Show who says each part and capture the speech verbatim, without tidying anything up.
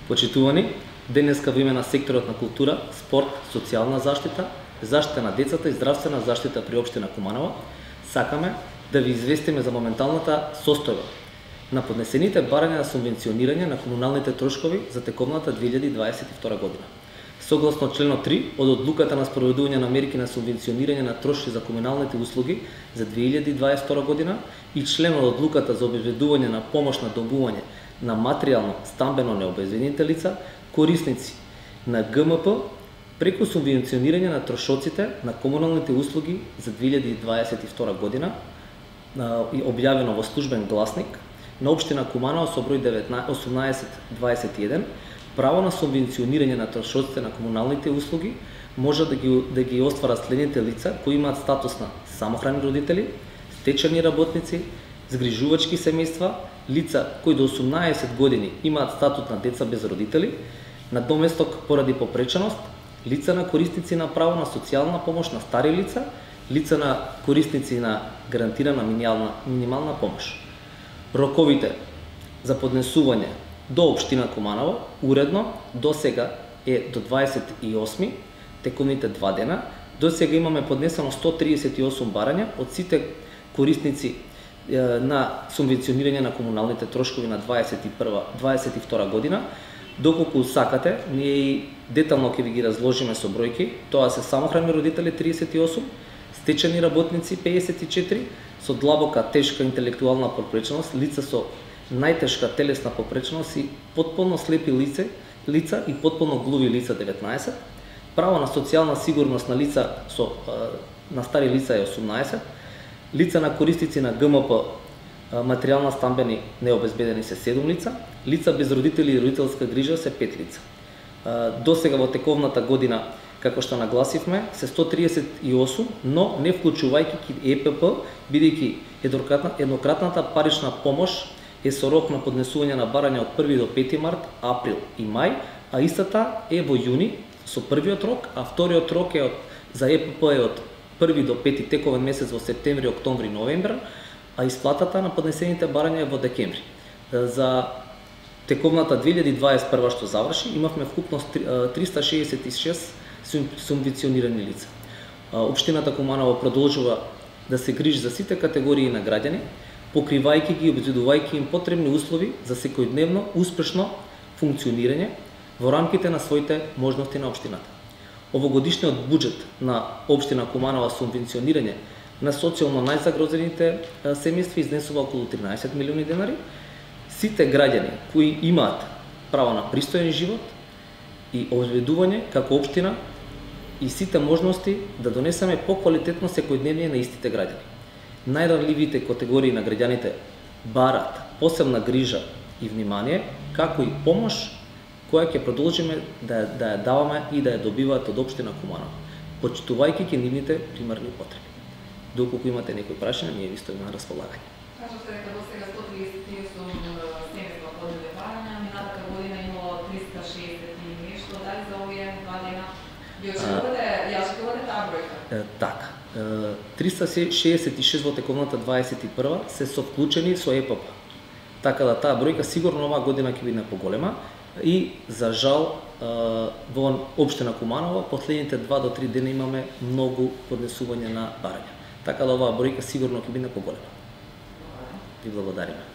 Speaker 1: Почитувани, денеска во име на секторот на култура, спорт, социјална заштита, заштита на децата и здравствена заштита при општина Куманово, сакаме да ви известиме за моменталната состојба на поднесените барања на субвенционирање на комуналните трошкови за текомната две илјади дваесет и втора година. Согласно членот три од одлуката на спроведување на мерки на субвенционирање на трошки за комуналните услуги за две илјади дваесет и втора година и член од одлуката за обезбедување на помош на добување на материјално стамбено необезбедените лица, корисници на Г М П, преку субвенционирање на трошоците на комуналните услуги за две илјади дваесет и втора година, објавено во службен гласник на општина Куманово со број осумнаесет дваесет и еден, право на субвенционирање на трошоците на комуналните услуги може да ги, да ги остварат следните лица кои имаат статус на самохрани родители, стечени работници, згрижувачки семејства, лица кои до осумнаесет години имаат статус на деца без родители, на доместок поради попреченост, лица на корисници на право на социјална помош на стари лица, лица на корисници на гарантирана минимална, минимална помош. Роковите за поднесување до општина Куманово уредно до сега е до дваесет и осми, текомните два дена. До сега имаме поднесено сто триесет и осум барања од сите корисници на субвенционирање на комуналните трошкови на дваесет и прва дваесет и втора година. Доколку сакате, ние и детално ќе ви ги разложиме со бројки. Тоа се самохрани родители триесет и осум, стечени работници пеесет и четири, со длабока тешка интелектуална попреченост, лица со најтешка телесна попреченост и потполно слепи лице, лица и потполно глуви лица деветнаесет, право на социјална сигурност на лица со на стари лица е осумнаесет, лица на корисници на Г М П материјална стамбени необезбедени се седум лица, лица без родители и родителска грижа се пет лица. До сега во тековната година, како што нагласивме, се сто триесет и осум, но не вклучувајќи Е П П, бидејќи еднократната парична помош е со рок на поднесување на барања од први до пети март, април и мај, а истата е во јуни со првиот рок, а вториот рок е од, за Е П П е од први до пети тековен месец во септември, октомври, новември, а исплатата на поднесените барања е во декември. За тековната две илјади дваесет и прва што заврши, имавме вкупно триста шеесет и шест субвенционирани лица. Општината Куманово продолжува да се грижи за сите категории на граѓани, покривајќи ги и обезбедувајќи им потребни услови за секојдневно успешно функционирање во рамките на своите можности на општината. Овогодишниот буџет на општина Куманово субвенционирање на социјално најзагрозените семејства изнесува околу тринаесет милиони денари. Сите граѓани кои имаат право на пристоен живот и обезбедување како општина и сите можности да донесеме поквалитетно секојдневие на истите граѓани. Најранливите категории на граѓаните барат посебна грижа и внимание, како и помош која ќе продолжиме да, да ја даваме и да ја добиваат од општина Куманово, почитувајќи ги нивните примарни потреби. Доколку имате некои прашања, ние ви стоиме на располагање.
Speaker 2: Кажавте дека до сега сто триесет и осум семејства поднесле барања, минатата година имало триста шеесет и нешто, дали за овие два дена ви очекувате, ја очекувате таа бројка?
Speaker 1: Така. триста шеесет и шест во тековната дваесет и прва се со вклучени со Е П П. Така да таа бројка сигурно оваа година ќе биде поголема и за жал во општина Куманово последните два до три дена имаме многу поднесување на барања. Така да оваа бројка сигурно ќе биде поголема. Ви благодариме.